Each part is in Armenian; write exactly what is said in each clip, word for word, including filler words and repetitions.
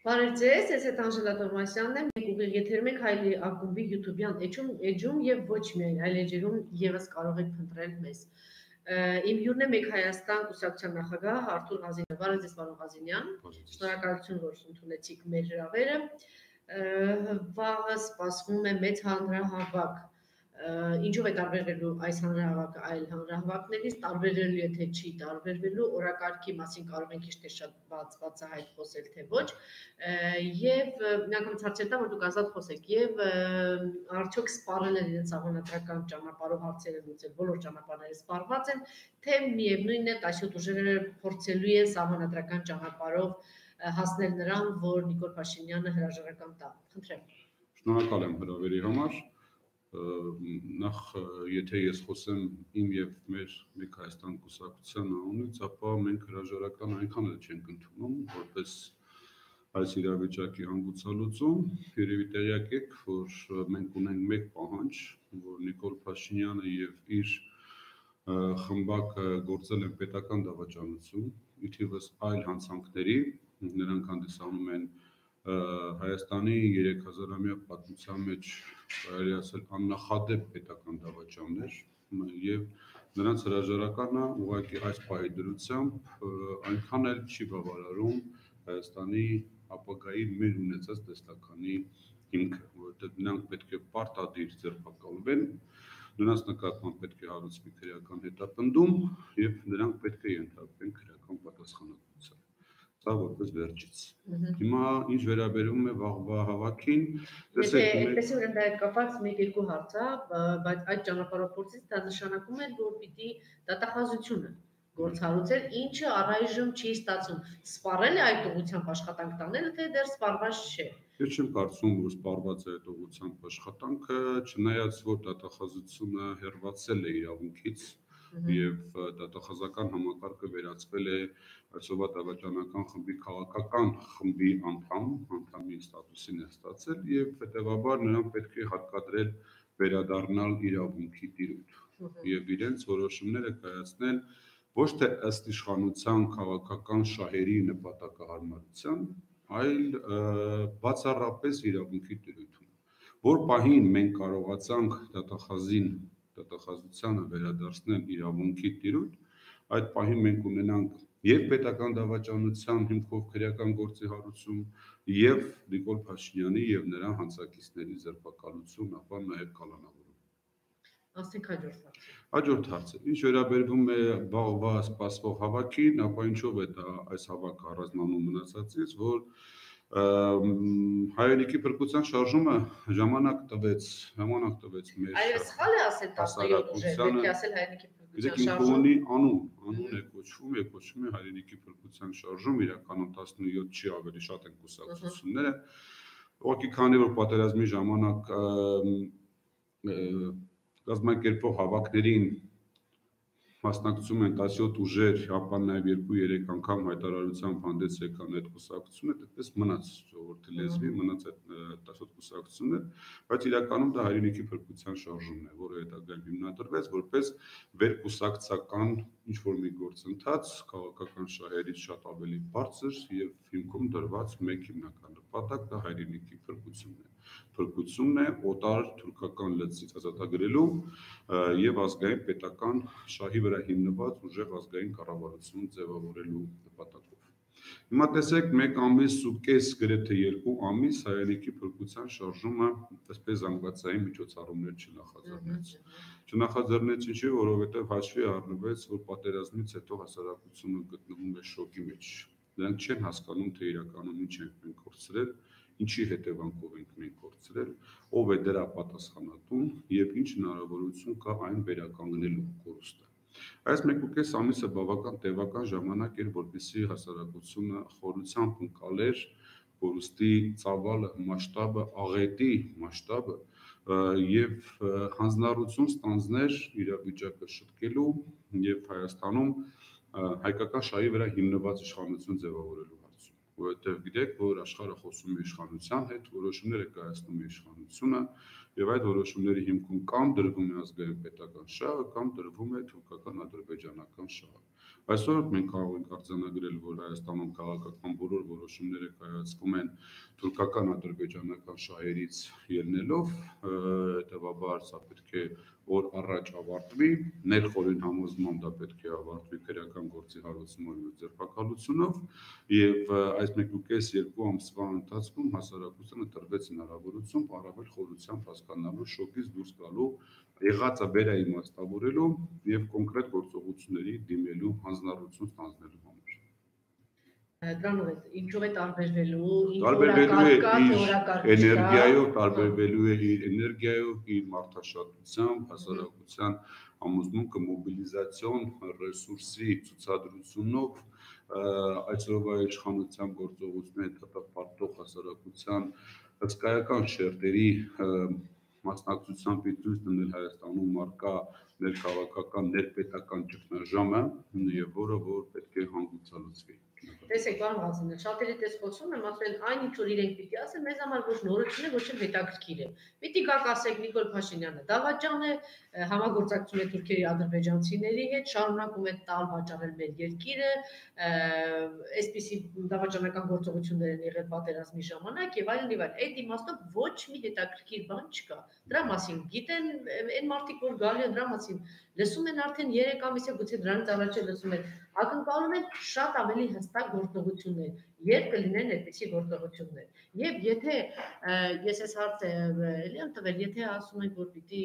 Բարև ձեզ, ես հետ Անժելա Տովմասյանն եմ, մենք ուղիղ եթերում ենք Հայլի ակումբի յութուբյան էջում եւ ոչ միայն այլ էջերում եւս կարող եք փնտրել մեզ։ Իմ հյուրն է Մեկ Հայաստան կուսակցության նախագահ Արթուր Ղազինյանը։ Բարև ձեզ, պարոն Ղազինյան։ Շնորհակալություն, որ ընդունեցիք մեր հրավերը։ Վաղը սպասվում է մեծ հանրահավաք։ Ինչով է տարբերվելու այս հանրահավաքը այլ հանրահավաքներից, տարբերվելու եթե չի տարբերվելու, օրակարգի մասին կարող ենք ինչ-թե շատ բացահայտ խոսել, թե ոչ, եւ միանգամից հարցեր տամ, որ դուք ազատ խոսեք, եւ արդյոք սպառել են իրենց սահմանադրական ճանապարհով հարցերը լուծել, բոլոր ճանապարհները սպառված են, թե միևնույն է տասյոթ ուժերը փորձելու են սահմանադրական ճանապարհով հասնել նրան, որ Նիկոլ Փաշինյանը հրաժարական տա։ Խնդրեմ։ Շնորհակալ եմ հրավերի համար։ Նախ եթե ես խոսեմ իմ եւ մեր Մեկ Հայաստան կուսակցության անունից, ապա մենք հրաժարական այնքան էլ չենք ընդունում, որպես այս իրավիճակի հանգուցալուծում։ Երևի տեղյակ եք, որ մենք ունենք մեկ պահանջ, որ Նիկոլ Փաշինյանը եւ իր խմբակը գործել են պետական դավաճանություն, ի թիվս այլ հանցանքների, նրանք հանդիսանում են Հայաստանի երեք հազարամյա պատմության մեջ կարելի ասել աննախադեպ պետական դավաճաններ եւ նրանց հրաժարականը ուղղակի այս պահի դրությամբ այնքան էլ չի բավարարում Հայաստանի ապագայի մեր ունեցած տեսլականի հիմքը, որովհետեւ նրանք պետք է պարտադիր ձերբակալվեն, նրանց նկատմամբ պետք է հարուցվի քրեական հետապնդում եւ նրանք պետք է ենթարկվեն քրեական պատասխանատվության։ Սա որպես վերջից։ Հիմա ինչ վերաբերում է վաղվա հավաքին, տեսեք, այդպես ուրեմն դա հետ կապված մեկ-երկու հարց է, բայց այդ ճանապարհով փորձից դա նշանակում է, որ պիտի դատախազությունը գործառույթել, ինչը առայժմ չի ստացվում։ Սպառել է այդ ուղղությամբ աշխատանք տանել, թե դեռ սպառված չէ։ Ես չեմ կարծում, որ սպառված է այդ ուղղությամբ աշխատանքը, չնայած որ դատախազությունը հեռացել է իրավունքից եւ դատախազական համակարգը վերածվել է այսօրվա դավաճանական խմբի քաղաքական խմբի անդամ, անդամի ստատուսին է ստացել եւ հետեւաբար նրանք պետք է հարկադրել վերադառնալ իրավունքի տիրույթ եւ իրենց որոշումները կայացնել ոչ թե ըստ իշխանության քաղաքական շահերի նպատակահարմարության, այլ բացառապես իրավունքի տիրույթում, որ պահին մենք կարողացանք դատախազին դատախազությանը վերադարձնել իրավունքի տիրույթ, այդ պահին մենք ունենանք եւ պետական դավաճանության հիմքով քրեական գործի հարուցում եւ Նիկոլ Փաշինյանի եւ նրա հանցակիցների ձերբակալություն, ապա նաեւ կալանավորում։ Ասենք հաջորդ հարցը։ Հաջորդ հարցը։ Ինչ վերաբերվում է վաղվա սպասվող հավաքին, ապա ինչով է դա այս հավաքը առանձնանում մնացածից, որ հայրենիքի փրկության շարժումը ժամանակ տվեց, ժամանակ տվեց մեր Այո, սխալ է ասել տասնյոթ ուժեր, պետք է ասել հայրենիքի փրկության շարժում։ Անուն, անուն է կոչվում, է կոչվում է հայրենիքի փրկության շարժում, իրականում տասնյոթ չի, ավելի շատ են կուսակցությունները։ Ուղղակի քանի որ պատերազմի ժամանակ կազմակերպող հավաքներին մասնակցում են տասնյոթ ուժեր, ապա նաև երկու-երեք անգամ հայտարարությամբ հանդես եկան այդ կուսակցությունները, այդպես մնաց ժողովրդի լեզվի, մնաց այդ տասնյոթ կուսակցություններ, բայց իրականում դա հայրենիքի փրկության շարժումն է, որը հետագայում հիմնադրվեց որպես վերկուսակցական ինչ-որ մի գործընթաց, քաղաքական շահերից շատ ավելի բարձր եւ հիմքում դրված մեկ հիմնական նպատակ դա հայրենիքի փրկությունն է։ Փրկությունն է օտար թուրքական լծից ազատագրելու եւ ազգային պետական շահի վրա հիմնված ուժեղ ազգային կառավարություն ձևավորելու նպատակով։ Հիմա տեսեք, մեկ ամիս ու կես գրեթե երկու ամիս հայրենիքի փրկության շարժումը այսպես զանգվածային միջոցառումներ չնախաձեռնեց։ Չնախաձեռնեց ինչի, որովհետեւ հաշվի առնվեց, որ պատերազմից հետո հասարակությունը գտնվում է շոկի մեջ։ Նրանք չեն հասկանում, թե իրականում ինչ ենք մենք կորցրել, ինչի հետևանքով ենք մենք կորցրել, ով է դրա պատասխանատուն եւ ինչ հնարավորություն կա այն վերականգնելու կորուստը։ Այս մեկ ու կես ամիսը բավական տևական ժամանակ էր, որպեսզի հասարակությունը խորությամբ ընկալեր կորուստի ծավալը, մասշտաբը, աղետի մասշտաբը եւ հանձնառություն ստանձներ իրավիճակը շտկելու եւ Հայաստանում հայկական շահի վրա հիմնված իշխանություն ձևավորելու հարցում, որովհետեւ գիտեք, որ աշխարհը խոսում է իշխանության հետ, որոշումները կայացնում է իշխանությունը Եվ այդ որոշումների հիմքում կամ դրվում է ազգային պետական շահը, կամ դրվում է թուրքական ադրբեջանական շահը։ Այսօր մենք կարող ենք արձանագրել, որ Հայաստանում քաղաքական բոլոր որոշումները կայացվում են թուրքական ադրբեջանական շահերից ելնելով, հետևաբար սա պետք է օր առաջ ավարտվի, ներխորին համոզմամբ դա պետք է ավարտվի քրեական գործի հարուցումով և ձերբակալությունով, եւ այս մեկ ու կես երկու ամսվա ընթացքում հասարակությանը տրվեց հնարավորություն առավել խորությամբ հասկանալու, շոկից դուրս գալու, եղածը վերաիմաստավորելու եւ կոնկրետ գործողությունների դիմելու հանձնառություն ստանձնելու համար։ Դրանով է ինչով է տարբերվելու, տարբերվելու է իր էներգիայով, տարբերվելու է իր էներգիայով, իր մարդաշատությամբ, հասարակության համոզմունքը մոբիլիզացիոն ռեսուրսի ցուցադրությունով, այսօրվա իշխանության գործողությունների հետապարտող հասարակության հսկայական շերտերի մասնակցությամբ ցույց տնել Հայաստանում առկա ներքաղաքական, ներպետական ճգնաժամը, եւ որը որ պետք է հանգուցալուծվի։ Տեսեք, պարոն Ղազարյան, շատերի պես խոսում եմ, ասել այն ինչ որ իրենք պիտի ասեն, մեզ համար ոչ նորություն է, ոչ էլ հետաքրքիր է։ Պիտի գաք ասեք Նիկոլ Փաշինյանը դավաճան է, համագործակցում է թուրքերի ադրբեջանցիների հետ, շարունակում է տալ վաճառել մեր երկիրը, այսպիսի դավաճանական գործողություններ են եղել պատերազմի ժամանակ եւ այլն եւ այլն։ Այդ իմաստով ոչ մի հետաքրքիր բան չկա։ Դրա մասին գիտեն այն մարդիկ, որ գալի են, դրա մասին լսում են արդեն երեք ամիս է, գուցե դրանից առաջ էլ լսում են, ակնկալում են շատ ավելի հստակ գործողություններ, երբ կլինեն այդպիսի գործողություններ։ Եվ եթե ես այս հարցը էլի եմ տվել, եթե ասում ենք, որ պիտի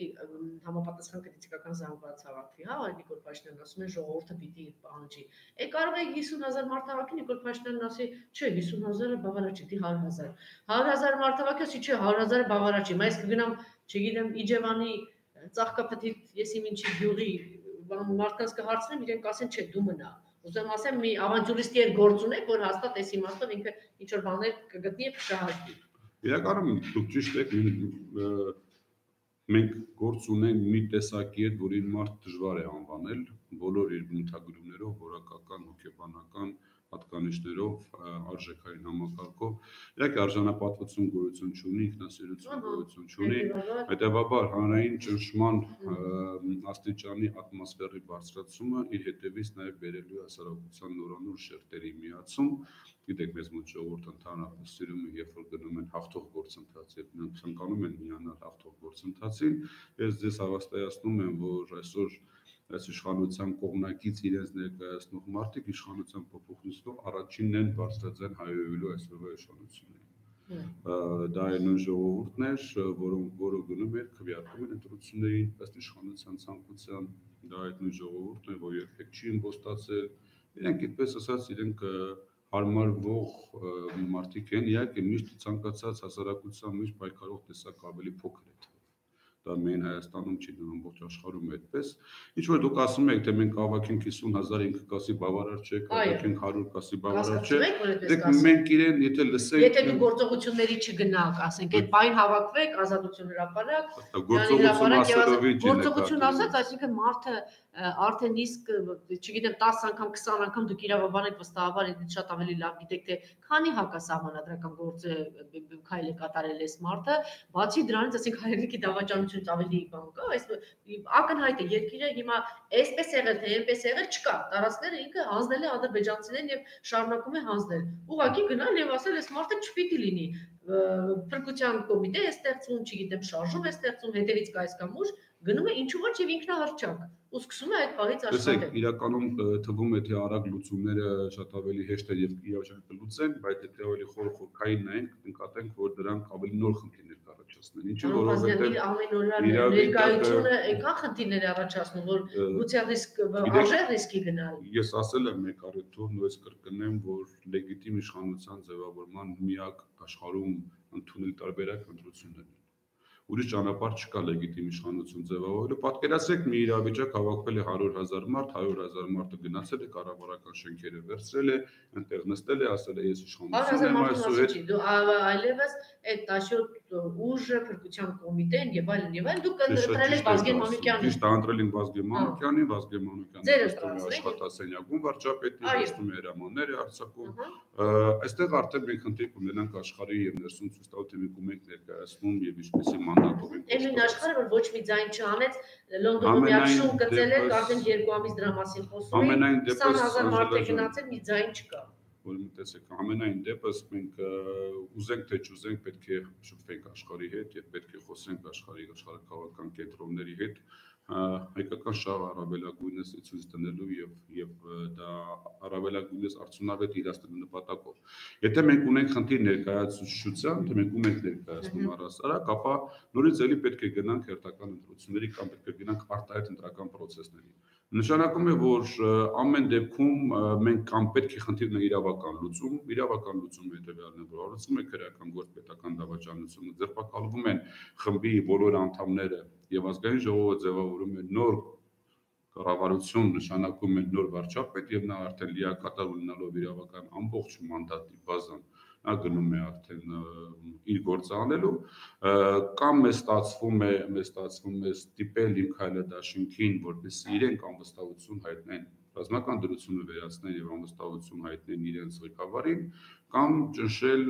համապատասխան կրիտիկական զանգված հավաքվի, հա, Նիկոլ Փաշինյանն ասում է ժողովուրդը պիտի պահանջի։ Է կարող է հիսուն հազար մարդ հավաքի, Նիկոլ Փաշինյանն ասի, չէ, հիսուն հազարը բավարար չի, դի հարյուր հազար։ հարյուր հազար մարդ հավաքի, ասի, չէ, հարյուր հազարը բավարար չի։ Բայց կգնամ, չգիտեմ, Իջևանի ծաղկափթիթ, ես իմ ինչի գյուղի մարդկանց կհարցնեմ, իրենք ասեն, չէ, դու մնա։ Ուզում ասեմ, մի ավանտյուրիստի հետ գործ ունեք, որ հաստատ այս իմաստով ինքը ինչ-որ բաներ կգտնի եւ կշահարկի։ Իրականում դուք ճիշտ եք, մենք գործ ունենք մի տեսակի հետ, որին մարդ դժվար է անվանել, բոլոր իր բնութագրումներով, որակական, հոգեբանական հատկանիշներով, արժեքային համակարգով, իհարկե արժանապատվություն գոյություն չունի, ինքնասիրություն գոյություն չունի, հետևաբար հանրային ճնշման աստիճանի ատմոսֆերի բարձրացումը իր հետևից նաև բերելու է հասարակության նորանոր շերտերի միացում, գիտեք, մեզ մոտ ժողովուրդը ընդհանրապես սիրում է, երբ որ գնում են հաղթող գործընթաց եւ ցանկանում են միանալ հաղթող գործընթացին, ես ձեզ հավաստիացնում եմ, որ այսօր այս իշխանության կողմնակից իրենց ներկայացնող մարդիկ իշխանության փոփոխությունով առաջինն են բարձրաձայն հայհոյելու այսօրվա իշխանություններին։ Դա այն նույն ժողովուրդն էր, որոնք որը գնում էր քվեարկում են ընտրություններին ըստ իշխանության ցանկության, դա այդ նույն ժողովուրդն է, որ երբեք չի իմպոստացել, իրենք այդպես ասած իրենք հարմարվող մարդիկ են, իհարկե միշտ ցանկացած հասարակության մեջ պայքարող տեսակ ավելի փոքր է։ Դա միայն Հայաստանում չի, դա ամբողջ աշխարհում է այդպես։ Ինչ որ դուք ասում եք, թե մենք կհավաքենք հիսուն հազար, ինքը կասի բավարար չէ, կհավաքենք հարյուր, կասի բավարար չէ։ Դեք մենք իրեն եթե լսենք, եթե դու գործողությունների չգնաք, ասենք, այդ պայն հավաքվեք, ազատություն հրապարակ, գործողություն ասելով ինչ է։ Գործողություն ասած, այսինքն մարդը արդեն իսկ, չգիտեմ, տասը անգամ, քսան անգամ դուք իրավաբան եք վստահաբար, ինձ շատ ավելի լավ գիտեք, թե քանի հակասահմանադրական գործ քայլ է կատարել այս մարդը, բացի դրանից, ասենք, հայրենիքի դավաճանությունից ավելի բան կա, այս ակնհայտ է, երկիրը հիմա այսպես եղել, թե այնպես եղել չկա, տարածքները ինքը հանձնել է ադրբեջանցիներին եւ շարունակում է հանձնել։ Ուղղակի գնալ եւ ասել, այս մարդը չպիտի լինի, փրկության կոմիտե է ստեղծվում, չգիտեմ, շարժում է ստեղծվում, հետևից կայս կամ ուժ, գնում է ինչու ոչ եւ ինքնահռչակ ու սկսում է այդ բաղից աշխատել։ Տեսեք, իրականում թվում է թե արագ լուծումները շատ ավելի հեշտ են եւ իրավիճակը կլուծեն, բայց եթե ավելի խորխորքային նայենք, կնկատենք, որ դրանք ավելի նոր խնդիրներ կառաջացնեն։ Ինչու որովհետեւ ամենօրյա ներկայությունը այնքան խնդիրներ է առաջացնում, որ գուցե ռիսկ արժե ռիսկի գնալ։ Ես ասել եմ մեկ առիթով, նույնպես կրկնեմ, որ լեգիտիմ իշխանության ձևավորման միակ աշխարհում ընդունել տարբերակ ընտրություններն են։ Ուրիշ ճանապարհ չկա լեգիտիմ իշխանություն ձևավորելու։ Պատկերացրեք մի իրավիճակ հավաքվել է հարյուր հազար մարդ, հարյուր հազար մարդը գնացել է կառավարական շենքերը վերցրել է, այնտեղ նստել է, ասել է ես իշխանություն եմ այսօր։ Դու այլևս այդ տասնյոթ ուժը, փրկության կոմիտեն եւ այլն եւ այլն, դուք ընտրել եք Վազգեն Մանուկյանին։ Ճիշտ, ընտրել ենք Վազգեն Մանուկյանին, Վազգեն Մանուկյանը աշխատասենյակում վարչապետի, նստում է հրամաններ արձակում։ Այստեղ արդեն մենք խնդիր կունենանք աշխարհի եւ ներսում ցույց տալ, թե մենք ում ենք ներկայացնում եւ ինչպեսի մանդատով ենք։ Այն աշխարհը, որ ոչ մի ձայն չանեց, Լոնդոնում միացում գծել եք, արդեն երկու ամիս դրա մասին խոսում են, քսան հազար մարդ է գնացել, մի ձայն չկա։ Որ մտածեք, ամենայն դեպս մենք ուզենք թե չուզենք պետք է շփվենք աշխարհի հետ եւ պետք է խոսենք աշխարհի աշխարհակաղակական կենտրոնների հետ հայկական շահը առավելագույնս ցույց տնելու եւ եւ դա առավելագույնս արդյունավետ իրացնելու նպատակով։ Եթե մենք ունենք խնդիր ներկայացուցչության, թե մենք ում ենք ներկայացնում առասարակ, ապա նորից էլի պետք է գնանք հերթական ընտրությունների կամ պետք է գնանք արտահայտ ընտրական process-ների։ Նշանակում է, որ ամեն դեպքում մենք կամ պետք է խնդիրն իրավական լուծում, իրավական լուծումը հետևյալն է, որ հարուցում է քրեական գործպետական դավաճանությունը, ձերբակալվում են խմբի բոլոր անդամները եւ ազգային ժողովը ձևավորում է նոր կառավարություն, նշանակում է նոր վարչապետ եւ նա արդեն լիակատար ունենալով իրավական ամբողջ մանդատի բազան նա գնում է արդեն իր գործը անելու կամ մեզ ստացվում է մեզ ստացվում է ստիպել իմ քայլը դաշինքին, որպեսզի իրենք անվստահություն հայտնեն, ռազմական դրությունը վերացնեն եւ անվստահություն հայտնեն իրենց ղեկավարին, կամ ճնշել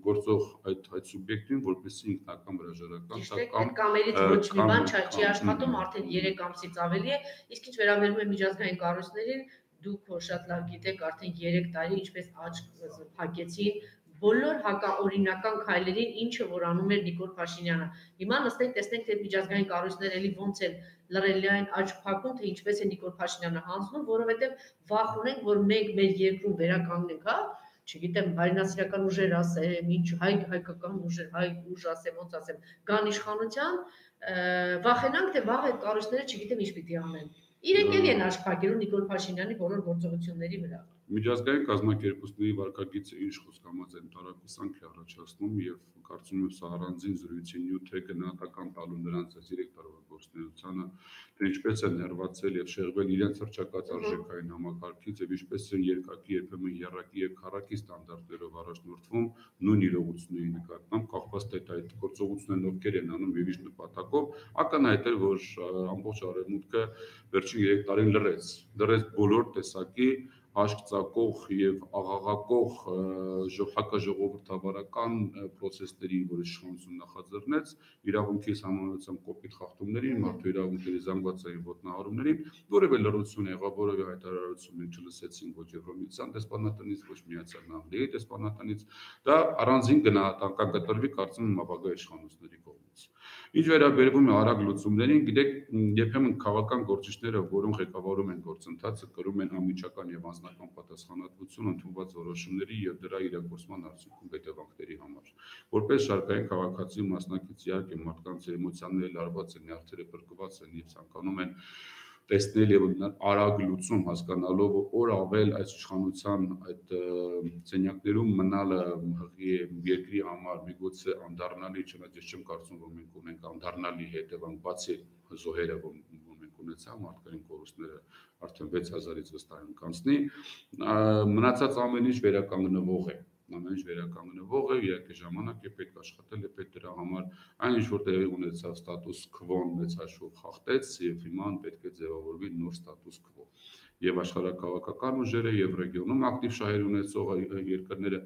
գործող այդ այդ սուբյեկտին, որպեսզի ինքնական հրաժարական տա կամ կամերից ոչ մի բան չի աշխատում արդեն երեք ամսից ավելի է, իսկ ինչ վերաբերում է միջազգային կառույցներին, դուք շատ լավ գիտեք, արդեն երեք տարի ինչպես աչք փակեցին բոլոր հակաօրինական քայլերին, ինչը որ անում էր Նիկոլ Փաշինյանը։ Հիմա նստենք, տեսնենք, թե միջազգային կառույցները էլի ոնց են լրելիային աչք փակում, թե ինչպես է Նիկոլ Փաշինյանը հանձնում, որովհետև վախ ունենք, որ մենք մեր երկրում վերականգնենք, հա, չգիտեմ, հայրենասիրական ուժեր ասեմ, ինչ հայ հայկական ուժեր, հայ ուժ ասեմ, ոնց ասեմ, գան իշխանության, վախենանք, թե վաղ այդ կառույցները չգիտեմ ինչ պիտի անեն։ Իրենք էլի են աչք փակելու Նիկոլ Փաշինյանի բոլոր գործողությունների վրա։ Միջազգային կազմակերպությունների վարկագիծը ինչ խոսքամած են տարակուսանք է առաջացնում եւ կարծում եմ սա առանձին զրույցի նյութ է գնահատական տալու նրանց այս երեք տարվա գործունեությանը, թե ինչպես են ներվածել եւ շեղվել իրենց հռչակած արժեքային համակարգից եւ ինչպես են երկակի երբեմն երակի եւ քառակի ստանդարտներով առաջնորդվում նույն իրողությունների նկատմամբ, կախված թե այդ գործողություններն ովքեր են անում եւ ինչ նպատակով, ակնհայտ է, որ ամբողջ արևմուտքը վերջին երեք տարին լրեց, լրեց բոլոր տեսակի աշկ ծակող եւ աղաղակող հակաժողովրդավարական process-ների, որ իշխանությունը նախաձեռնեց, իրավունքի համանրությամբ կոպիտ խախտումներին, մարդու իրավունքների զանգվածային ոտնահարումներին, որևէ լրություն եղավ, որևէ հայտարարություն մենք չլսեցինք ոչ Եվրոմիության դեսպանատնից, ոչ Միացյալ Նահանգների դեսպանատնից, դա առանձին գնահատական կտրվի կարծում եմ ապագա իշխանությունների կողմից։ Ինչ վերաբերվում է արագ լուծումներին, գիտեք, երբեմն քաղաքական գործիչները, որոնք ղեկավարում են գործընթացը, կրում են անմիջական եւ անձնական պատասխանատվություն ընդունված որոշումների եւ դրա իրագործման արդյունքում հետևանքների համար։ Որպես շարքային քաղաքացի մասնակից, իհարկե մարդկանց էմոցիաները լարված են, նյարդերը փրկված են եւ ցանկանում են տեսնել եւ արագ լուծում հասկանալով օր ավել այս իշխանության այդ ցենյակներում մնալը հղի երկրի համար միգուցե անդառնալի, չնայած ես չեմ կարծում, որ մենք ունենք անդառնալի հետևանք, բացի զոհերը, որ մենք ունեցանք, մարդկային կորուստները արդեն վեց հազարից վստահ կանցնի, մնացած ամեն ինչ վերականգնվող է։ Ամեն ինչ վերականգնվող է, իհարկե ժամանակ է պետք աշխատել, է պետք դրա համար այն ինչ որ տեղի ունեցավ ստատուս քվոն մեծ հաշվով խախտեց եւ հիմա պետք է ձևավորվի նոր ստատուս քվո։ Եվ աշխարհակաղակական ուժերը եւ ռեգիոնում ակտիվ շահեր ունեցող երկրները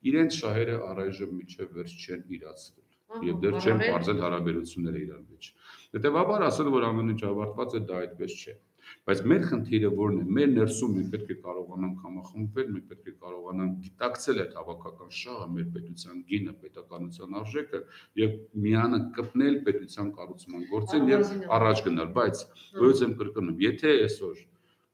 իրենց շահերը առայժմ միջև վերջ չեն իրացվել եւ դեռ չեն բարձել հարաբերությունները իրար մեջ։ Հետեւաբար ասել որ ամեն ինչ ավարտված է, դա այդպես չէ։ Բայց մեր խնդիրը որն է, մեր ներսում մենք պետք է կարողանանք համախմբվել, մենք պետք է կարողանանք գիտակցել այդ հավաքական շահը, մեր պետության գինը, պետականության արժեքը եւ միանը կպնել պետության կառուցման գործին եւ առաջ գնալ, բայց ույս եմ կրկնում, եթե այսօր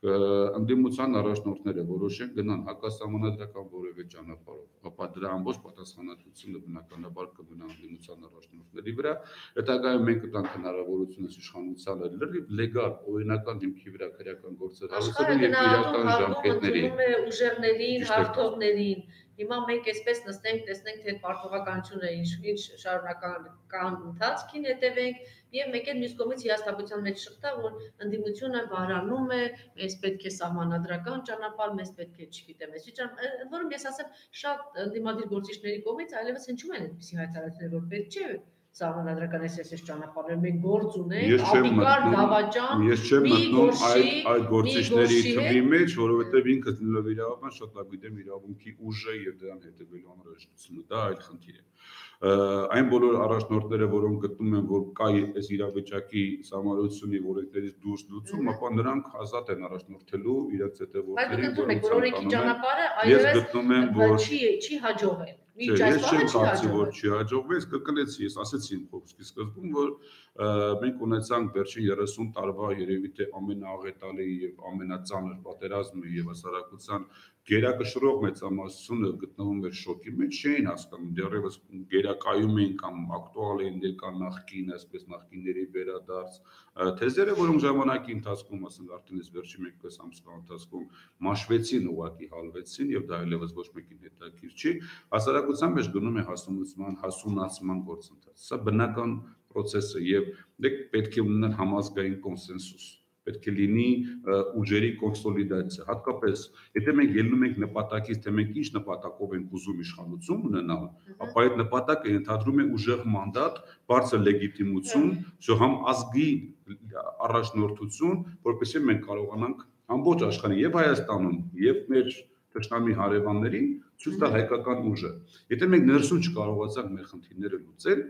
ընդդիմության առաջնորդները որոշեն գնան հակասահմանադրական որևէ ճանապարհով, ապա դրա ամբողջ պատասխանատվությունը բնականաբար կմնա ընդդիմության առաջնորդների վրա, հետագայում մենք կտանք հնարավորություն իշխանությանը լրիվ լեգալ օրինական հիմքի վրա քրեական գործեր հարուցելու եւ իրական ժամկետների ուժերներին, հաղթողներին Հիմա մենք այսպես նստենք, տեսնենք, թե պարտավորականությունը ինչ շարունակական ընթացքին հետևենք, եւ մեկ էլ մյուս կողմից հիասթափության մեջ շղթա, որ ընդդիմությունը բարանում է, մեզ պետք է սահմանադրական ճանապարհ, մեզ պետք է, չգիտեմ, այսի ճանապարհ, ընդ որում ես ասեմ, շատ ընդդիմադիր գործիչների կողմից այլևս հնչում են այդպիսի հայտարարություններ, որ պետք չէ սահմանադրական այս ճանապարհներ, մենք գործ ունենք, ապիկար, դավաճան, մի գործի, այդ գործիչների թվի մեջ, որովհետև ինքը լինելով իրավաբան շատ լավ գիտեմ իրավունքի ուժը եւ դրան հետևելու անհրաժեշտությունը, դա այլ խնդիր է։ Այն բոլոր առաջնորդները, որոնք գտնում են, որ կա այս իրավիճակի սահմանադրությունի օրենքներից դուրս լուծում, ապա նրանք ազատ են առաջնորդելու իրենց հետևորդներին, որոնք օրենքի ճանապարհը այլևս չի հաջողել։ Ես չեմ կարծում, որ չի հաջողվել, ես կրկնեցի, ես ասեցի իմ խոսքի սկզբում, որ մենք ունեցանք վերջին երեսուն տարվա երևի թե ամենաաղետալի եւ ամենածանր պատերազմը եւ հասարակության գերակշռող մեծամասնությունը գտնվում էր շոկի մեջ, չէին հասկանում, դեռևս գերակայում էին կամ ակտուալ էին դեր կան նախկին, այսպես նախկինների վերադարձ թեզերը, որոնք ժամանակի ընթացքում, ասենք արդեն այս վերջի մեկ ամսվա ընթացքում մաշվեցին, ուղղակի հալվեցին եւ դա այլևս ոչ մեկին հետաքրքիր չի, հասարակության մեջ գնում է հասունացման, հասունացման գործընթաց։ Սա բնական process է եւ դեք պետք է ունենալ համազգային կոնսենսուս, պետք է լինի ուժերի կոնսոլիդացիա, հատկապես եթե մենք ելնում ենք նպատակից, թե մենք ինչ նպատակով ենք ուզում իշխանություն ունենալ, ապա այդ նպատակը ենթադրում է ուժեղ մանդատ, բարձր լեգիտիմություն, համ ազգի առաջնորդություն, որպեսզի մենք կարողանանք ամբողջ աշխարհին եւ Հայաստանում եւ մեր թշնամի հարևաններին ցույց տալ հայկական ուժը։ Եթե մենք ներսում չկարողացանք մեր խնդիրները լուծել,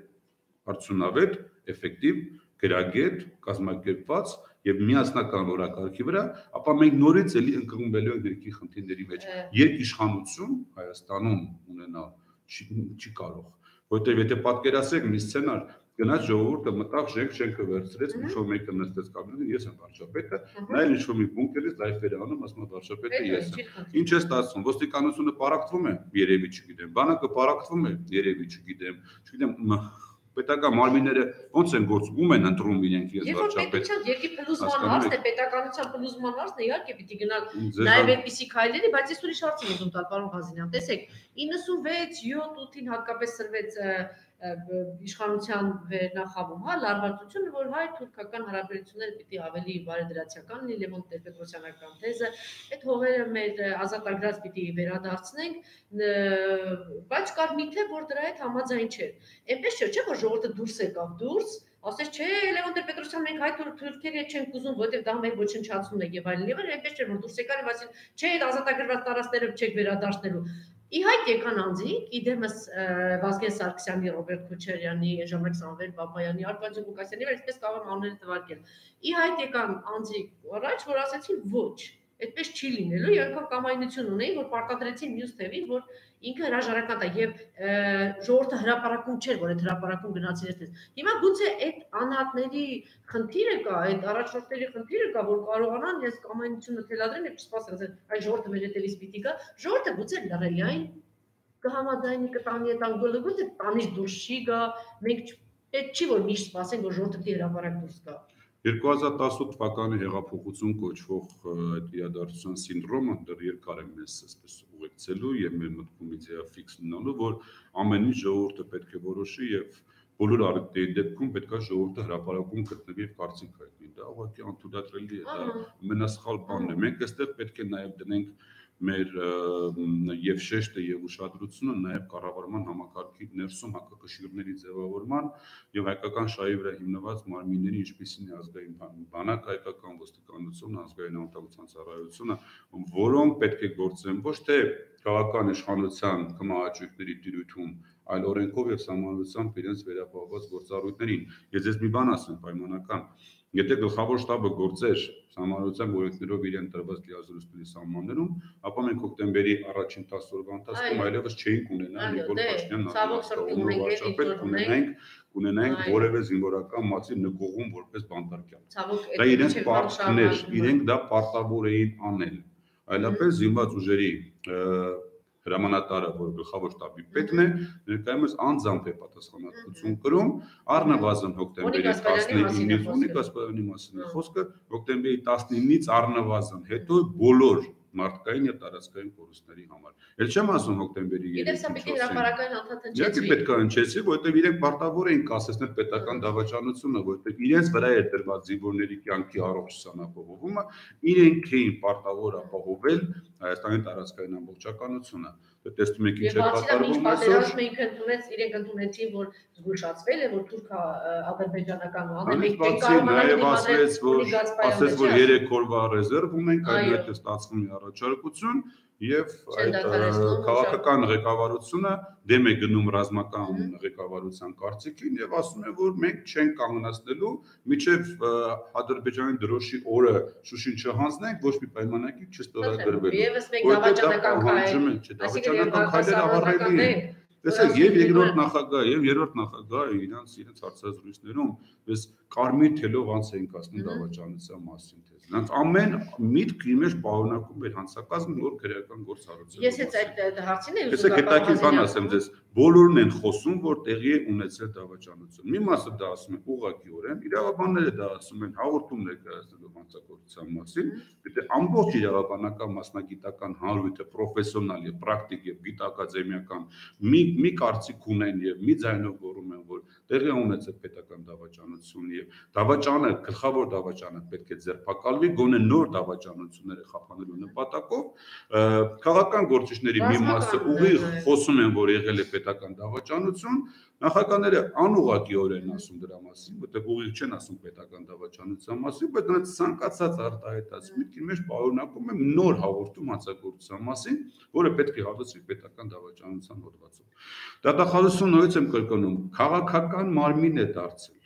արդյունավետ, էֆեկտիվ, գրագետ, կազմակերպված եւ միասնական օրակարգի վրա, ապա մենք նորից էլի ընկղմվելու ենք ներքի խնդիրների մեջ։ Երկիշխանություն Հայաստանում ունենալ չի կարող, որտեղ եթե պատկերացրեք մի սցենար, գնաց ժողովուրդը մտավ շենք շենքը վերցրեց, ինչ-որ մեկը նստեց կաբինետում, ես եմ վարչապետը, նա էլ ինչ-որ մի բունկերից լայֆեր է անում, ասում է վարչապետը ես եմ։ Ինչ է ստացվում, ոստիկանությունը պարակվում է, երևի չգիտեմ, բանակը պարակվում է, երևի չգիտեմ, չգիտեմ պետական մարմինները ոնց են գործում են ընտրում իրենք ես վարչապետ։ Երբ երկի փլուզման հարցն է, պետականության փլուզման հարցն է, իհարկե պիտի գնալ նաև այդպիսի քայլերի, բայց ես ուրիշ հարց եմ ուզում տալ, պարոն Ղազարյան, տեսեք, իննսունվեց յոթ ութին հատկապես սրվեց իշխանության վերնախավում, հա, լարվածությունը, որ հայ-թուրքական հարաբերությունները պիտի ավելի բարեդրացիական լինի, Լևոն Տեր-Պետրոսյանական թեզը, այդ հողերը մեր ազատ ագրած պիտի վերադարձնենք, բայց կար մի թե, որ դրա հետ համաձայն չէր։ Այնպես չէ, չէ, որ ժողովուրդը դուրս եկավ դուրս, ասես չէ, Լևոն Տեր-Պետրոսյան, մենք հայ-թուրքերի հետ չենք ուզում, որտեղ դա մեր ոչնչացումն է եւ այլն, եւ այնպես չէ, որ դուրս եկան եւ ասին, չէ, այդ ազատագրված տարածքները չեք վերադարձնելու։ Իհայտ եկան անձիկ, իդեմս Վազգեն Սարգսյանի, Ռոբերտ Քոչարյանի, ժամանակ Սամվել Բաբայանի, Արկադիյ Ղուկասյանի, այսպես կարող եմ անունները թվարկել։ Իհայտ եկան անձիկ առաջ, որ ասացին ոչ, այդպես չի լինելու, երկու կամայնություն ունեին, որ պարտադրեցին մյուս թևին, որ ինքը հրաժարական տա եւ ժողովուրդը հրապարակում չէր, որ այդ հրապարակում գնացին այդպես։ Հիմա գուցե այդ անհատների խնդիրը կա, այդ առաջնորդների խնդիրը կա, որ կարողանան ես կամայնությունը թելադրեմ եւ չսպասեմ, այ ժողովուրդը մեր հետևից պիտի գա, ժողովուրդը գուցե լռելի այն կհամաձայնի կտանի այդ անգոլը, գուցե տանից դուրս չի գա, մենք պետք չի որ միշտ սպասենք, որ ժողովուրդը պիտի հրապարակ դուրս գա։ երկու հազար տասութ թվականի հեղափոխություն կոչվող այդ իրադարձության սինդրոմը դեռ երկար է մեզ այսպես ուղեկցելու եւ մեր մտքում իդեա ֆիքս լինելու, որ ամեն ինչ ժողովուրդը պետք է որոշի եւ բոլոր առիթների դեպքում պետք է ժողովուրդը հրապարակում գտնվի եւ կարծիք հայտնի։ Դա ուղղակի անթույլատրելի է, դա ամենասխալ բանն է։ Մենք այստեղ պետք է նաեւ դնենք մեր եւ շեշտը եւ ուշադրությունը նաեւ կառավարման համակարգի ներսում հակակշիռների ձևավորման եւ հայկական շահի վրա հիմնված մարմինների, ինչպիսին է ազգային բանակ, հայկական ոստիկանություն, ազգային անվտանգության ծառայությունը, որոնք պետք է գործեն ոչ թե քաղաքական իշխանության կմահաճույքների տիրույթում, այլ օրենքով եւ սահմանադրությամբ իրենց վերապահված գործառույթներին։ Ես ես մի բան ասեմ պայմանական, եթե գլխավոր շտաբը գործեր սահմանադրության օրենքներով իրեն տրված լիազորությունների սահմաններում, ապա մենք հոկտեմբերի առաջին տասը օրվա ընթացքում այլևս չէինք ունենա Նիկոլ Փաշինյանն վարչապետ, կունենայինք կունենայինք որևէ զինվորական մասի նկողում որպես բանտարկյալ։ Դա իրենց պարտքներ, իրենք դա պարտավոր էին անել։ Այլապես զինված ուժերի հրամանատարը, որ գլխավոր շտաբի պետն է, ներկայումս անձամբ է պատասխանատվություն կրում, առնվազն հոկտեմբերի տասնինից, ունի Կասպարյանի մասին է խոսքը, հոկտեմբերի տասնինից առնվազն հետո բոլոր մարդկային եւ տարածքային կորուստների համար։ Էլ չեմ ասում հոկտեմբերի երեքին։ Իսկ սա պիտի հրապարակային անդադար հնչեցվի։ Իհարկե պետք է հնչեցվի, որովհետեւ իրենք պարտավոր էին կասեցնել պետական դավաճանությունը, որովհետեւ իրենց վրա էր դրված զինվորների կյանքի առողջ սանապահովումը, իրենք էին պարտավոր ապահովել Հայաստանի տարածքային ամբողջականությունը։ Տեսնում եք ինչ է կատարվում այսօր։ Մենք ընդունեց, իրենք ընդունեցին, որ զգուշացվել է, որ թուրք-ադրբեջանական անեն Նաև ասվեց, որ ասեց, որ երեք օրվա ռեզերվ ունենք, այդ է ստացվում առաջարկություն եւ այդ քաղաքական ղեկավարությունը դեմ է գնում ռազմական ղեկավարության կարծիքին եւ ասում է, որ մենք չենք կանգնացնելու միջև Ադրբեջանի դրոշի օրը Շուշին չհանձնենք, ոչ մի պայմանագիր չստորագրվելու։ Եվս մեկ դավաճանական քայլ, դավաճանական քայլերը ավարտելի են։ Տեսեք, եւ երկրորդ նախագահ եւ երրորդ նախագահը իրանց իրենց հարցազրույցներում ես կարմիր թելով անց էին կասնում դավաճանության մասին թե նրանց ամեն միտք իմեջ պարունակում էր հանցակազմ նոր քրեական գործառույթ։ Ես հենց այդ հարցին եմ ուզում գտակի բան ասեմ ձեզ, բոլորն են խոսում, որ տեղի է ունեցել դավաճանություն։ Մի մասը դա ասում է ուղղակիորեն, իրավաբանները դա ասում են հաղորդում ներկայացնելով հանցագործության մասին, դե ամբողջ իրավաբանական մասնագիտական հանրույթը պրոֆեսիոնալ եւ պրակտիկ եւ գիտակադեմիական մի մի կարծիք ունեն եւ մի ձայնով գոռում են, որ տեղի է ունեցել պետական դավաճանություն եւ դավաճանը, գլխավոր դավաճանը պետք է ձերբակալվի, գոնե նոր դավաճանությունները խափանելու նպատակով քաղաքական գործիչների մի մասը ուղիղ խոսում են, որ եղել է պետական դավաճանություն, նախագահները անուղղակիորեն ասում դրա մասին, որտեղ ուղիղ չեն ասում պետական դավաճանության մասին, բայց նրանց ցանկացած արտահայտած միտքի մեջ պարունակում է նոր հաղորդում հանցագործության մասին, որը պետք է հաղորդվի պետական դավաճանության հոդվածում։ Դատախազությունը նույնպես եմ կրկնում, քաղաքական մարմին է դարձել։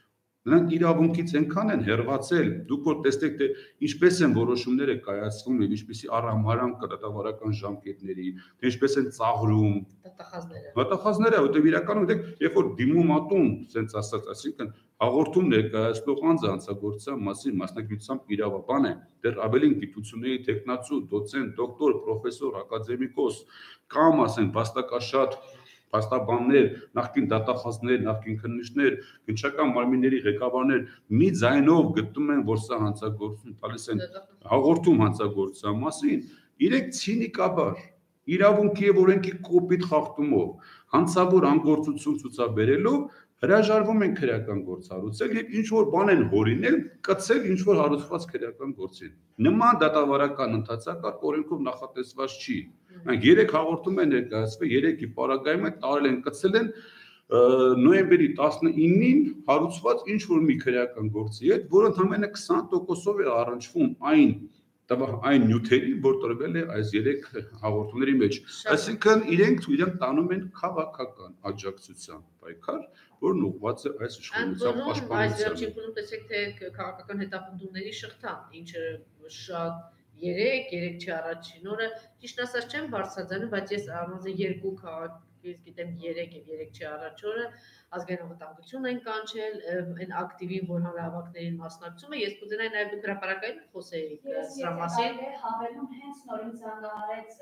Նրանք իրավունքից այնքան են հեռացել, դուք որ տեսեք թե ինչպես են որոշումները կայացվում եւ ինչպեսի առհամարան կդատավարական ժամկետների, թե ինչպես են ծաղրում դատախազները։ Դատախազները, որտեղ իրականում դեք, երբ որ դիմումատուն, ասենց ասած, այսինքն հաղորդում ներկայացնող անձը հանցագործության մասին մասնագիտությամբ իրավաբան է, դեռ ավելին գիտությունների տեխնացու, դոցենտ, դոկտոր, պրոֆեսոր, ակադեմիկոս, կամ ասեն վաստակաշատ փաստաբաններ, նախկին դատախազներ, նախկին քննիչներ, քննչական մարմինների ղեկավարներ մի ձայնով գտնում են, որ սա հանցագործություն տալիս են հաղորդում հանցագործության մասին, իրենք ցինիկաբար, իրավունքի եւ օրենքի կոպիտ խախտումով, հանցավոր անգործություն ցուցաբերելով հրաժարվում են քրեական գործառույթել եւ ինչ որ բան են հորինել, կցել ինչ որ հարուցված քրեական գործին։ Նման դատավարական ընթացակարգ օրենքով նախատեսված չի։ Մենք երեք հաղորդում են ներկայացվել, երեքի պարագայում են տարել են, կցել են նոյեմբերի տասնինին հարուցված ինչ որ մի քրեական գործի հետ, որը ընդամենը քսան տոկոսով է առնչվում այն այն նյութերի, որ տրվել է այս երեք հաղորդումների մեջ։ Այսինքն իրենք իրենք տանում են քաղաքական աջակցության պայքար, որն ուղղված է այս իշխանության պաշտպանությանը։ Այս վերջին փուլում տեսեք թե քաղաքական հետապնդումների շղթան, ինչը շատ երեք, երեք չի առաջին օրը, ճիշտ ասած չեմ բարձրաձայնում, բայց ես առանձին երկու քաղաք ես գիտեմ երեք եւ երեք չի առաջ օրը ազգային անվտանգություն են կանչել, այն ակտիվին, որ հանրահավաքներին մասնակցում է, ես կուզենայի նաև դուք հրապարակային խոսեիք սրա մասին։ Ես հավելում հենց նորից զանգահարեց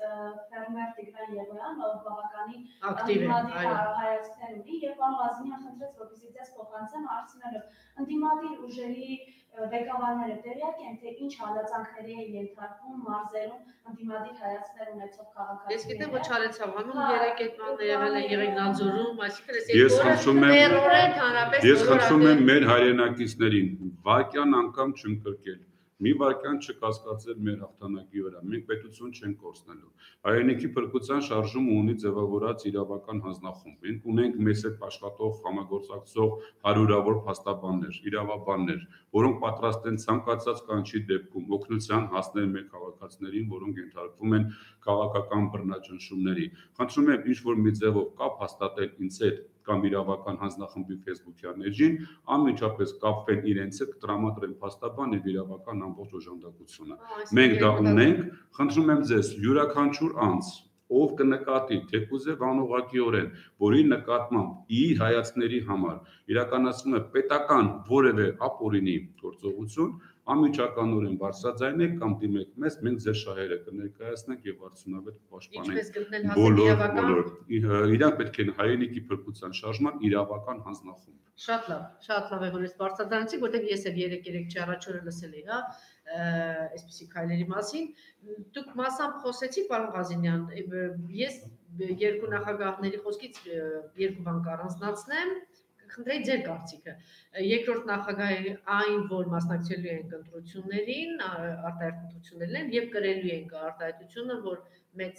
ֆերմեր Տիգրան Եղոյան, ով բավականին ակտիվ է, այո, հայացքներ ունի եւ պարոն Ղազարյանը խնդրեց, որպեսզի ձեզ փոխանցեմ հարցնելով ընդդիմադիր ուժերի ղեկավարները տեղյակ են, թե ինչ հալածանքների են ենթարկվում մարզերում ընդդիմադիր հայացքներ ունեցող քաղաքացիները։ Ես գիտեմ, որ Չարենցավանում երեք այդ բանն եղել է Եղեգնաձորում, այսինքն այս Ես խնդրում եմ, տերորեն հանրապես ես խնդրում եմ մեր հայրենակիցներին վարկյան անգամ չընկրկել, մի վարկյան չկասկածել մեր հաղթանակի վրա, մենք պետություն չենք կորցնելու։ Հայրենիքի փրկության շարժումը ունի ձևավորած իրավական հանձնախումբ, մենք ունենք մեզ հետ աշխատող համագործակցող հարյուրավոր փաստաբաններ, իրավաբաններ, որոնք պատրաստ են ցանկացած կանչի դեպքում օգնության հասնել մեր քաղաքացիներին, որոնք ենթարկվում են քաղաքական բռնաճնշումների։ Խնդրում եմ ինչ որ մի ձևով կապ հաստատել ինձ հետ կամ իրավական հանձնախմբի Facebook-յան էջին, անմիջապես կապվեն իրենց հետ, կտրամադրեն փաստաբան եւ իրավական ամբողջ օժանդակությունը։ Մենք դա ունենք, խնդրում եմ ձեզ, յուրաքանչյուր անձ, ով կնկատի, թեկուզ է անուղղակիորեն, որի նկատմամբ իր հայացքների համար իրականացվում է պետական որևէ ապօրինի գործողություն, անմիջականորեն բարձրաձայնեք կամ դիմեք մեզ, մենք ձեր շահերը կներկայացնենք եւ արդյունավետ կպաշտպանենք բոլոր բոլոր իրանք պետք է հայրենիքի փրկության շարժման իրավական հանձնախումբ։ Շատ լավ, շատ լավ է որ ես բարձրացանցի, որտեղ ես էլ երեք երեք չի առաջ օրը լսել էի, հա, այսպիսի քայլերի մասին։ Դուք մասամբ խոսեցիք, պարոն Ղազինյան, ես երկու նախագահների խոսքից երկու բան կառանձնացնեմ, կխնդրեի ձեր կարծիքը։ Երկրորդ նախագահի այն, որ մասնակցելու են ընտրություններին, արտահայտ ընտրություններին եւ կրելու են արտահայտությունը, որ մեծ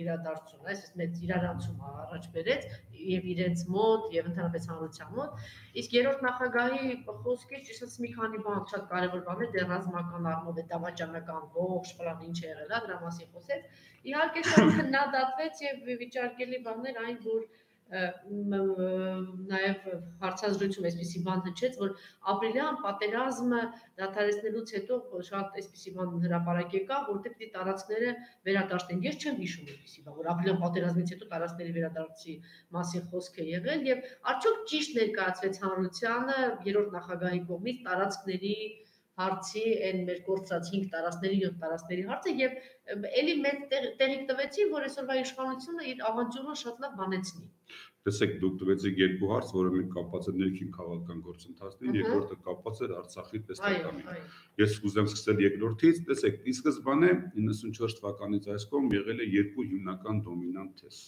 իրադարձություն, այսպես մեծ իրարանցում առաջ բերեց եւ իրենց մոտ եւ ընդհանրապես հանրության մոտ, իսկ երրորդ նախագահի խոսքից ճիշտ մի քանի բան շատ կարեւոր բաներ դեռ ռազմական առումով է դավաճանական ողջ պլան ինչ է եղել, դրա մասին խոսեց։ Իհարկե շատ քննադատվեց եւ վիճարկելի բաներ այն, որ նաև հարցազրույցում այսպիսի բան հնչեց, որ ապրիլյան պատերազմը դադարեցնելուց հետո շատ այսպիսի բան հրապարակ եկավ, որտեղ պիտի տարածքները վերադարձնեն։ Ես չեմ հիշում այսպիսի բան, որ ապրիլյան պատերազմից հետո տարածքների վերադարձի մասին խոսք է եղել եւ արդյոք ճիշտ ներկայացվեց հանրությանը երրորդ նախագահի կողմից տարածքների հարցի այն մեր կորցած հինգ տարածքների յոթ տարածքների հարցը եւ էլի մեծ տեղիք տվեցին, որ այսօրվա իշխանությունը իր ավանտյուրը շատ լավ բանեցնի։ Տեսեք, դուք տվեցիք երկու հարց, որը մենք կապված է ներքին քաղաքական գործընթացներին, երկրորդը կապված էր Արցախի տեսլականին։ Ես ուզեմ սկսել երկրորդից, տեսեք, ի սկզբանե իննսունչորս թվականից այս կողմ եղել է երկու հիմնական դոմինանտ թեզ։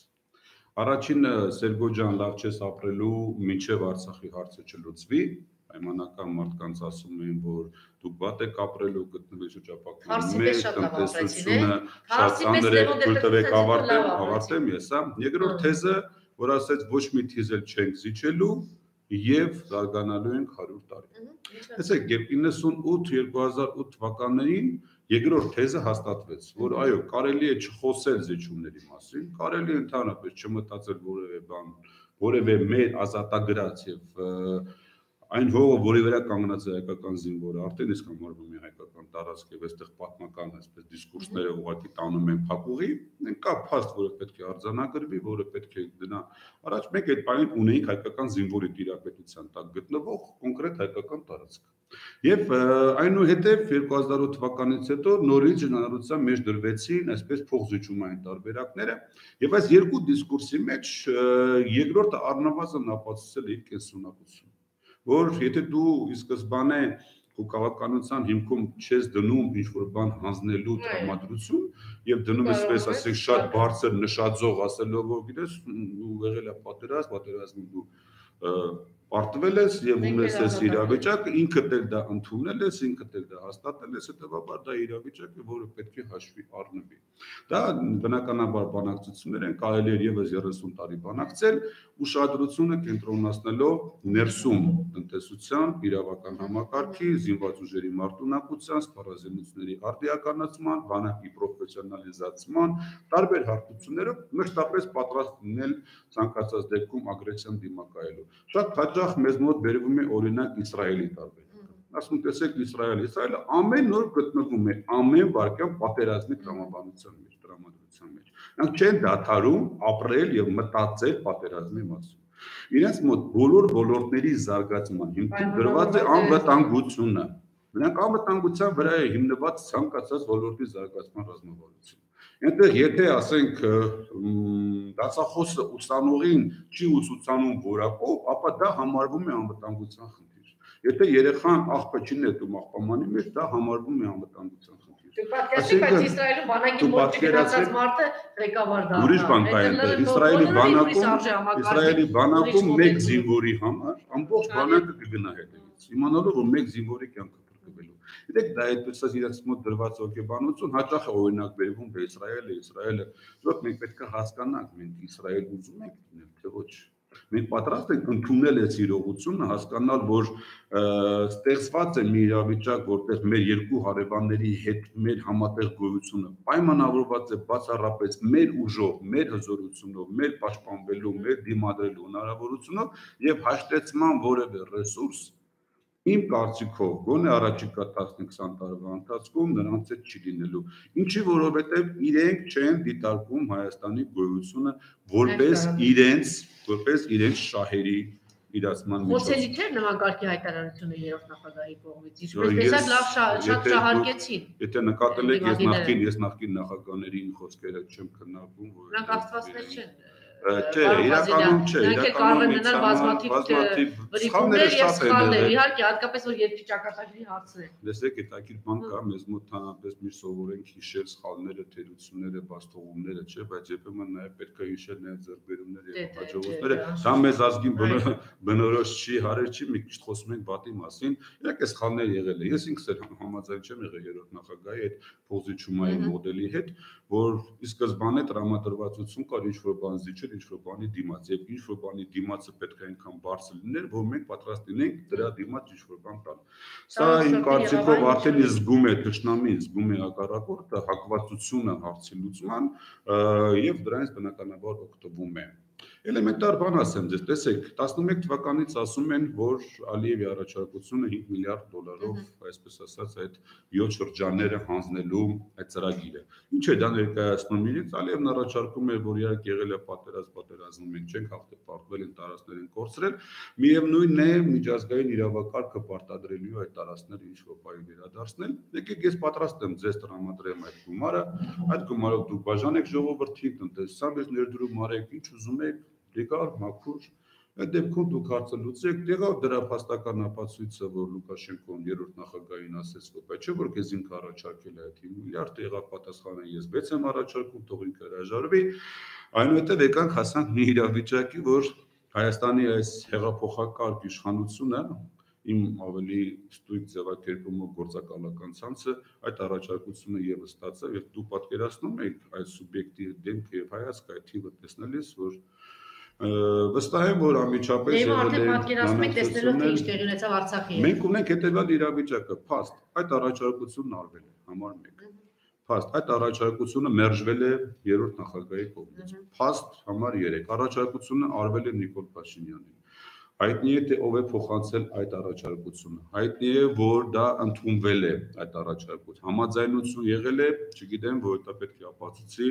Առաջինը Սերգո ջան, լավ չես ապրելու, մինչև Արցախի հարցը չլուծվի, պայմանական մարդկանց ասում էին, որ դուք վատ եք ապրելու, գտնվեք շրջապատում մեր տնտեսությունը շատ ծանր է, թույլ տվեք ավարտեմ, ավարտեմ ես, հա։ Երկրորդ թեզը, որ ասեց ոչ մի թիզ էլ չենք զիջելու եւ զարգանալու ենք հարյուր տարի։ Տեսեք, երբ իննսունութ երկու հազար ութ թվականներին երկրորդ թեզը հաստատվեց, որ այո, կարելի է չխոսել զիջումների մասին, կարելի է ընդհանրապես չմտածել որևէ բան, որևէ մեր ազատագրած եւ այն հողը, որի վրա կանգնած է հայկական զինվորը, արդեն իսկ համարվում է հայկական տարածք եւ այստեղ պատմական այսպես դիսկուրսները ուղղակի տանում են փակուղի, կա փաստ, որը պետք է արձանագրվի, որը պետք է դնա առաջ, մենք այդ բանին ունեինք հայկական զինվորի տիրապետության տակ գտնվող կոնկրետ հայկական տարածք։ Եվ այնուհետև երկու հազար ութ թվականից հետո նորից ժողովրդության մեջ դրվեցին այսպես փոխզիջումային տարբերակները, եւ այս երկու դիսկուրսի մեջ երկրորդը առնվազն ապացուցել է իր կենսունակությունը, որ եթե դու ի սկզբանե քո քաղաքականության հիմքում չես դնում ինչ-որ բան հանձնելու տրամադրություն եւ դնում ես պես ասենք շատ բարձր նշաձող ասելով, որ գիտես, ու եղել է պատերազմ, պատերազմում դու պարտվել ես եւ ունես այս իրավիճակը, ինքդ էլ դա ընդունել ես, ինքդ էլ դա հաստատել ես, հետեւաբար դա իրավիճակ է, որը պետք է հաշվի առնվի։ Դա բնականաբար բանակցություններ են, կարելի է եւս երեսուն տարի բանակցել, ուշադրությունը կենտրոնացնելով ներսում տնտեսության, իրավական համակարգի, զինված ուժերի մարտունակության, սպառազինությունների արդիականացման, բանակի պրոֆեսիոնալիզացման, տարբեր հարթություններով մշտապես պատրաստ լինել ցանկացած դեպքում ագրեսիան դիմակայելու։ Շատ հաճախ մեզ մոտ բերվում է օրինակ Իսրայելի տարբերակը։ Ասում տեսեք Իսրայելը, Իսրայելը ամեն օր գտնվում է ամեն վայրկյան պատերազմի տրամաբանության մեջ, տրամադրության մեջ։ Նրանք չեն դադարում ապրել եւ մտածել պատերազմի մասին։ Իրենց մոտ բոլոր ոլորտների զարգացման հիմքում դրված է անվտանգությունը։ Նրանք անվտանգության վրա է հիմնված ցանկացած ոլորտի զարգացման ռազմավարություն։ Այնտեղ եթե ասենք դասախոսը ուսանողին չի ուսուցանում որակով, ապա դա համարվում է անվտանգության խնդիր։ Եթե երեխան աղբը չի նետում աղբամանի մեջ, դա համարվում է անվտանգության խնդիր։ Դուք պատկերացրեք, բայց Իսրայելում բանակի մոտ գնացած մարդը ղեկավար դառնա։ Ուրիշ բան կա այնտեղ, Իսրայելի բանակում, Իսրայելի բանակում մեկ զինվորի համար ամբողջ բանակը կգնա հետևից։ Իմանալով, որ մեկ զինվորի կյանքը փրկվելու։ Գիտեք, դա այդպես իրաց մոտ դրված հոգեբանություն հաճախ է օրինակ բերվում դե Իսրայելը, Իսրայելը, ոչ մենք պետք է հասկանանք, մենք Իսրայել ուզում ենք լինել, թե ոչ։ Մենք պատրաստ ենք ընդունել այս իրողությունը, հասկանալ, որ ստեղծված է մի իրավիճակ, որտեղ մեր երկու հարևանների հետ մեր համատեղ գոյությունը պայմանավորված է բացառապես մեր ուժով, մեր հզորությունով, մեր պաշտպանվելու, մեր դիմադրելու հնարավորությունով եւ հաշտեցման որևէ ռեսուրս իմ կարծիքով գոնե առաջիկա տասնհինգ-քսան տարվա ընթացքում նրանց հետ չի լինելու։ Ինչի որովհետև իրենք չեն դիտարկում Հայաստանի գոյությունը որպես իրենց, որպես իրենց շահերի իրացման միջոց։ Խոսելի չէր նման կարգի հայտարարությունը երրորդ նախագահի կողմից։ Ինչպես տեսակ լավ շատ շահարկեցին։ Եթե նկատել եք, ես նախկին ես նախկին նախագահների խոսքերը չեմ քննարկում, որ նրանք աստվածներ չեն։ Չէ, իրականում չէ, իրականում բազմաթիվ վրիպումներ եւ սխալներ, իհարկե, հատկապես որ երկրի ճակատագրի հարցն է։ Տեսեք, հետաքրքիր բան կա, մեզ մոտ հանրապես միշտ սովորենք հիշել սխալները, թերությունները, բաստողումները, չէ, բայց երբեմն նաեւ պետք է հիշել նաեւ ձեռքբերումները եւ հաջողությունները։ Դա մեզ ազգին բնորոշ չի, հարեր չի, մի քիչ խոսում ենք բատի մասին։ Իհարկե սխալներ եղել է։ Ես ինքս էլ համաձայն չեմ եղել երրորդ նախագահի այդ փոխզիջումային մոդելի հետ, որ ի սկզբանե տրամադրվածություն կար ինչ-որ բան զիջել, ինչ-որ բանի դիմաց, եւ ինչ-որ բանի դիմացը պետք է այնքան բարձր լիներ, որ մենք պատրաստ լինենք դրա դիմաց ինչ-որ բան տալ։ Սա իմ կարծիքով արդեն զգում է թշնամին, զգում է հակառակորդը, հակվածությունը հարցի լուծման եւ դրանից բնականաբար օգտվում է։ Էլեմենտար բան ասեմ ձեզ, տեսեք, տասնմեկ թվականից ասում են, որ Ալիևի առաջարկությունը հինգ միլիարդ դոլարով, այսպես ասած, այդ յոթ շրջանները հանձնելու այդ ծրագիրը։ Ինչ է դա ներկայացնում իրենց, Ալիևն առաջարկում էր, որ իհարկե եղել է պատերազմ, պատերազմում մենք չենք հաղթապարտվել, են տարածքներ են կորցրել, միևնույնն է միջազգային իրավակարգը պարտադրելու այդ տարածքները ինչ-որ բանի վերադարձնել։ Եկեք ես պատրաստ եմ ձեզ տրամադրեմ այդ գումարը, այդ գումարով դուք բաժանեք ժողովրդին, տնտեսության մեջ ներդրում արեք, ինչ ուզում եք, լեգալ, մաքուր, այդ դեպքում դուք հարցը լուծեք, եղավ դրա փաստական ապացույցը, որ Լուկաշենկոն երրորդ նախագահին ասեց, որ բայց չէ որ քեզ ինքը առաջարկել է այդ հինգ միլիարդ, եղավ պատասխանը ես վեց եմ առաջարկում, թող ինքը հրաժարվի, այնուհետև եկանք հասանք մի իրավիճակի, որ Հայաստանի այս հեղափոխակարգ իշխանությունը իմ ավելի ստույգ ձևակերպումով գործակալական ցանցը այդ առաջարկությունը եւս ստացավ եւ դու պատկերացնում եք այդ սուբյեկտի դեմքը եւ հայացքը այդ թիվը տեսնելիս, որ վստահ եմ, որ անմիջապես եղել է արդեն պատկերացնում եք տեսնելով թե ինչ տեղի ունեցավ Արցախի հետ։ Մենք ունենք հետեւյալ իրավիճակը, փաստ, այդ առաջարկությունն արվել է, համար մեկ։ Փաստ, այդ առաջարկությունը մերժվել է երրորդ նախագահի կողմից։ Փաստ համար երեք, առաջարկությունը արվել է Նիկոլ Փաշինյանին։ Հայտնի է թե ով է փոխանցել այդ առաջարկությունը։ Հայտնի է, որ դա ընդունվել է այդ առաջարկությունը։ Համաձայնություն եղել է, չգիտեմ, որ դա պետք է ապացուցի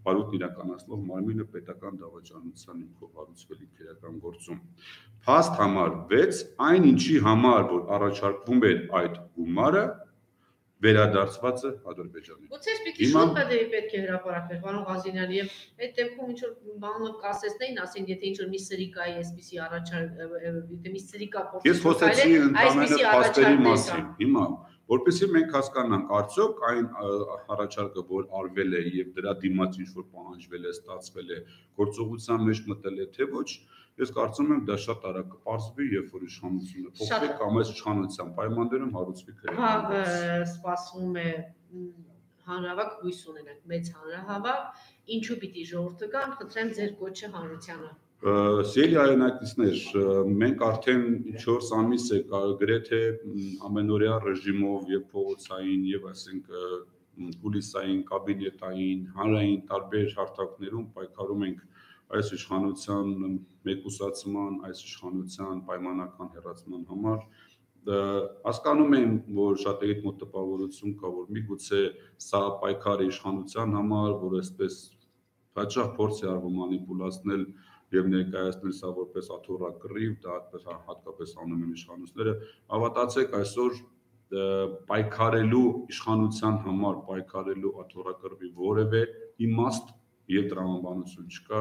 բարույթն իրականացնող մարմինը պետական դավաճանության հիմքով հարուցվել քրեական գործում։ Փաստ համար վեց, այն ինչի համար, որ առաջարկվում էր այդ գումարը, վերադարձված է Ադրբեջանին։ Ո՞ց է պիտի շուտ պետք է հրապարակվեր, պարոն Ղազինյան, եւ այդ դեպքում ինչ որ բանով կասեցնեին, ասեն, եթե ինչ որ մի սրիկայի այսպիսի առաջարկ, եթե մի սրիկա փոխել։ Ես խոսեցի ընդամենը փաստերի մասին։ Հիմա, որպեսզի մենք հասկանանք, արդյոք այն առաջարկը, որ արվել է եւ դրա դիմաց ինչ որ պահանջվել է, ստացվել է, գործողության մեջ մտել է թե ոչ, ես կարծում եմ դա շատ արագ կպարզվի, երբ որ իշխանությունը փոխվի կամ այս իշխանության պայմաններում հարուցվի քրեական գործ։ Սպասվում է հանրահավաք հույս ունենանք, մեծ հանրահավաք, ինչու պիտի ժողովուրդը գան, խնդրեմ ձեր կոչը հանրությանը։ Սիրելի հայրենակիցներ, մենք արդեն չորս ամիս է գրեթե ամենօրյա ռեժիմով եւ փողոցային եւ ասենք կուլիսային, կաբինետային, հանրային տարբեր հարթակներում պայքարում ենք այս իշխանության մեկուսացման, այս իշխանության պայմանական հեռացման համար։ Հասկանում եմ, որ շատերիդ մոտ տպավորություն կա, որ միգուցե սա պայքարը իշխանության համար, որ այսպես հաճախ փորձ է արվում մանիպուլացնել եւ ներկայացնել սա որպես աթոռակռիվ, դա հատկապես անում են իշխանությունները, հավատացեք այսօր պայքարելու իշխանության համար պայքարելու աթոռակռվի որևէ իմաստ եւ տրամաբանություն չկա,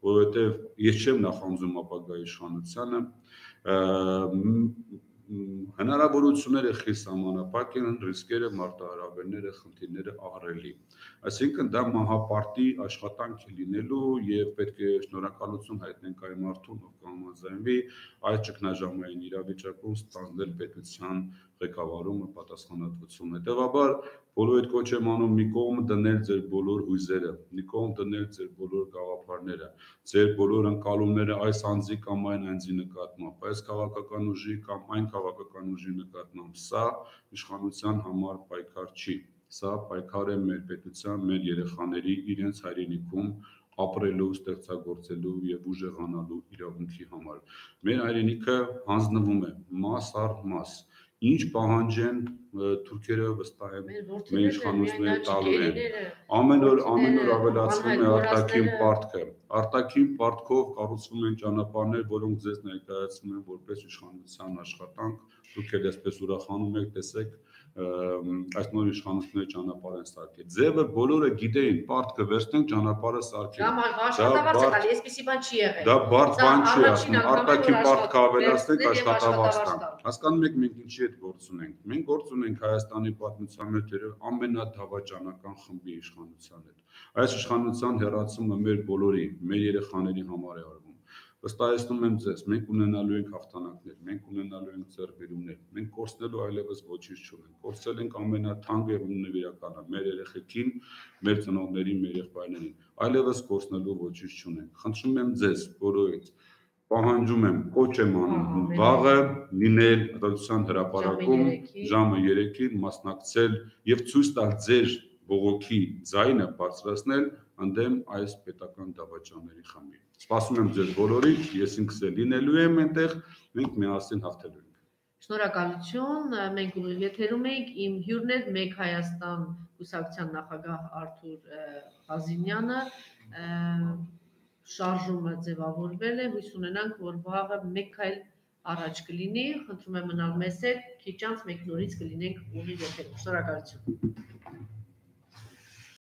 որովհետեւ ես չեմ նախանձում ապագա իշխանությանը, հնարավորությունները խիստ սահմանափակ են, ռիսկերը, մարտահրավերները, խնդիրները ահռելի։ Այսինքն դա մահապարտի աշխատանք է լինելու եւ պետք է շնորհակալություն հայտնենք այն մարդուն, ով կհամաձայնվի այս ճգնաժամային իրավիճակում ստանձնել պետության ղեկավարումը, պատասխանատվությունը։ Հետևաբար բոլոր այդ կոչ եմ անում մի կողմ դնել ձեր բոլոր հույզերը, մի կողմ դնել ձեր բոլոր գաղափարները, ձեր բոլոր ընկալումները այս անձի կամ այն անձի նկատմամբ, այս քաղաքական ուժի կամ այն քաղաքական ուժի նկատմամբ։ Սա իշխանության համար պայքար չի, սա պայքար է մեր պետության, մեր երեխաների իրենց հայրենիքում ապրելու, ստեղծագործելու եւ ուժեղանալու իրավունքի համար։ Մեր հայրենիքը հանձնվում է մաս առ մաս։ Ինչ պահանջեն թուրքերը վստահ եմ մեր իշխանությունները տալու են։ Ամեն օր ամեն օր ավելացվում է արտաքին պարտքը։ Արտաքին պարտքով կառուցվում են ճանապարհներ, որոնք ձեզ ներկայացնում են որպես իշխանության աշխատանք։ Դուք էլ այսպես ուրախանում եք, տեսեք, այս նոր իշխանությունների ճանապարհ են սարքել։ Ձևը բոլորը գիտեին, պարտքը վերցնենք ճանապարհը սարքենք։ Դա աշխատավարձ է տալի, այսպեսի բան չի եղել։ Դա բարդ բան չի, ասում, արտաքին պարտքը ավելացնենք, աշխատավարձ տանք։ Հասկանում եք մենք ինչի հետ գործ ունենք։ Մենք գործ ունենք Հայաստանի պատմության մեջ ամենադավաճանական խմբի իշխանության հետ։ Այս իշխանության հեռացումը մեր բոլորի, մեր երեխաների համար է արվում։ Վստահեցնում եմ ձեզ, մենք ունենալու ենք հաղթանակներ, մենք ունենալու ենք ձեռքբերումներ, մենք կորցնելու այլևս ոչինչ չունենք, կորցրել ենք ամենաթանկ եւ նվիրականը, մեր երեխեքին, մեր ծնողներին, մեր եղբայրներին, այլևս կորցնելու ոչինչ չունենք։ Խնդրում եմ ձեզ, բոլորից, պահանջում եմ, կոչ եմ անում վաղը լինել Արտադրության հրապարակում ժամը երեքին մասնակցել եւ ցույց տալ ձեր բողոքի ձայնը բարձրացնել ընդդեմ այս պետական դավաճանների խմբի։ Սպասում եմ ձեզ բոլորին, ես ինքս էլ լինելու եմ այնտեղ, մենք միասին հաղթելու ենք։ Շնորհակալություն, մենք ուղիղ եթերում ենք, իմ հյուրն էր Մեկ Հայաստան կուսակցության նախագահ Արթուր Ղազինյանը, շարժումը ձևավորվել է, հույս ունենանք, որ վաղը մեկ քայլ առաջ կլինի, խնդրում եմ մնալ մեզ հետ, քիչ անց մենք նորից կլինենք ուղիղ եթերում։ Շնորհակալություն։